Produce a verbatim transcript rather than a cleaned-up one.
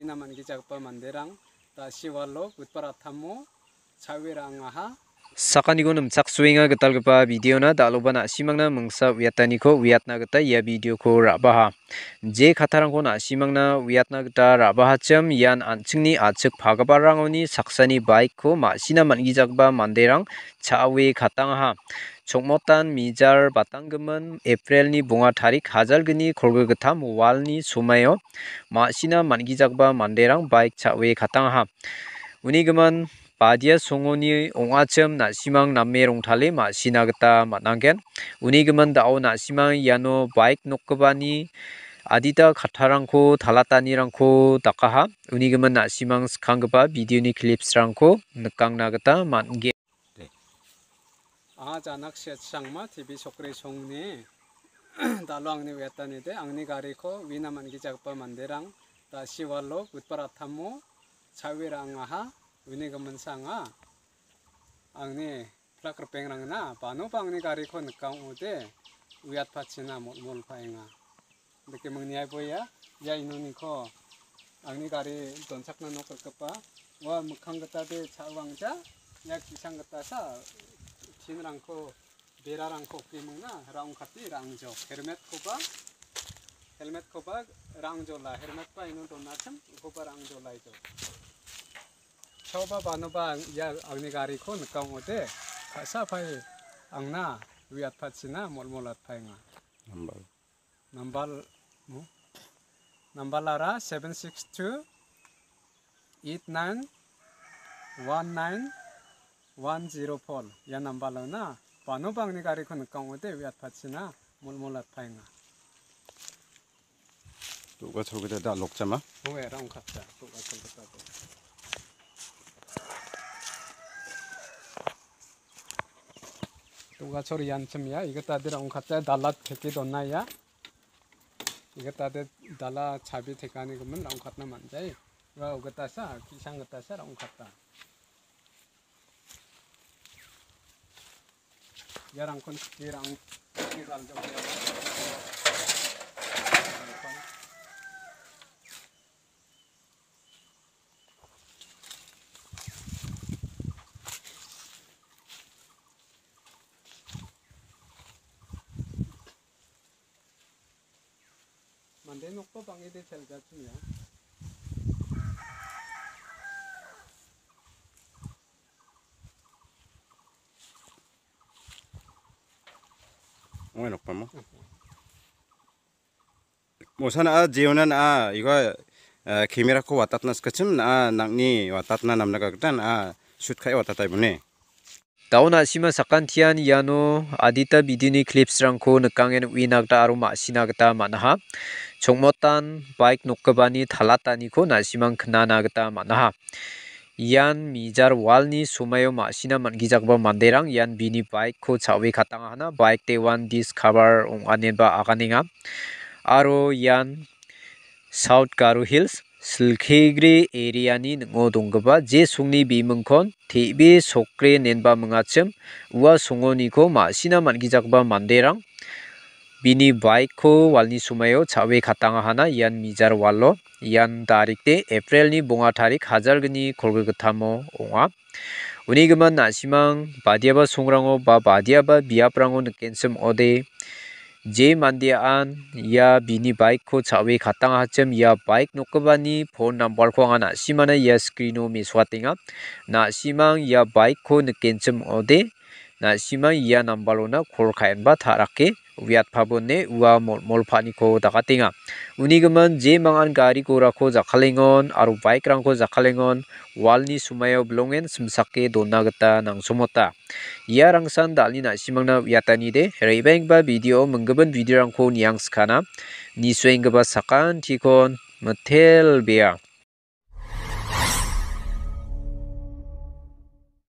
Ina man·gijagipa manderang, da·si walo butpar attamo cha·ue ra·angaha. Sakaniko nimchaksoenga gitalgipa videona, dal·oba na·simangna mingsa uiataniko uiatna gita ia videoko ra·baha. Je kattarangko na·simangna uiatna gita ra·bahachim, ian an·chingni a·chik pagiparangoni saksani bike-ko ma·sina man·gijagipa manderang cha·ue katangaha. Chongmotan mijar batanggimin April-ni bonga tarik hajalgni kolgri gittam walni somaio ma·sina man·gijagipa manderang bike cha·ue katangaha. Uni gimin badia songoni ong·achim na·simang name rongtale ma·sina gita man·anggen. Uni gimin da·o na·simang iano bike nokgipani adita kattarangko talatanirangko dakaha. Uni gimin na·simang skanggipa videoni clips-rangko nikangna gita man·gen. Anga Janak Siat Sangma T V Sokri songni dalo angni uiatanide, angni gariko uina man·gijagipa manderang da·si walo butpar attamo cha·ue ra·angaha. Uni giminsa anga angni plak ripengrangna banoba angni gariko nika ong·ode uiatpachina molmol paenga. Dake mingniaiboia, ia inoniko angni gari donchakna nok rikgipa, ua mikkang gitade cha·wangja, ia ki·sang gitasa tinrangko, berarangko oke mingna ra·ongkate ra·angjo. Helmet-koba, helmet-koba ra·angjola, helmet-ba inon donachim, ukoba ra·angjolaijo. Chaoba banoba ang-, ia angni gariko nika ong·ode, ka·sa pae angna uiatpachina molmol atpaenga. Nambal. Nambal, mo? Nambalara seven six two eight nine one nine one zero four. Ia nambalona banoba angni gariko nika ong·ode uiatpachina molmol atpaenga. Do·gacholgita da·lokjama? Oe, ra·ongkatja, do·gacholgita do. Do·gachol ianchim ia, igitade ra·ongkatja, dala teke dona ia. Igitade dala chabi tekanigimin ra·ongkatna man·jai. Ua ugitasa, ki·sang gitasa ra·ongkata. Iarangkon skie ra·ang, skie galjok. Mande nokba bang·ede chelgachim ia. Ong·e nokpamo. Mosa na·a, jeona na·a, iga, eh, camera-ko watatna sikachim na·a, nang·ni watatna namna gita na·a, shoot ka·e watatai bone. Dao na·sima sakantian iano adita videoni clips-rangko nikangen uina gita aro ma·sina gita man·aha. Chongmotan bike nokgipani talataniko na·simang knana gita man·aha. Ian mijar walni somaio ma·sina man·gijagipa manderang ian bini bike-ko cha·oe katangahana, bike de wan discover ong·anenba aganenga. Aro ian South Garo Hills, Silkegre area-ni ning·o donggipa je songni bimingkon T V Sokre nenba mingachim, ua songoniko ma·sina man·gijagipa manderang bini bike-ko walni somaio cha·oe katangahana ian mijar walo. Ian darikde April-ni bonga tarik hajalgni kolgrigittamo ong·a. Uni gimin na·simang badiaba songrango ba badiaba biaprango nikenchim ong·ode, je mandean ia bini bike-ko cha·oe katangachim ia bike nokgipani phone number-ko anga na·simana ia screen-o mesoatenga. Na·simang ia bike-ko nikenchim ong·ode, na·simang ia number-ona call ka·enba ta·rake uiatpabone ua molmol pa·niko dakatenga. Uni gimin je mangan gari gorako jakkalengon aro bike-rangko jakkalengon walni somaio bilongen simsake dona gita nangsomota. Ia rangsan dal·ni na·simangna uiatanide, re·baenggipa video, minggipin video-rangko niangskana, nisuenggipa sakantikon mitelbea.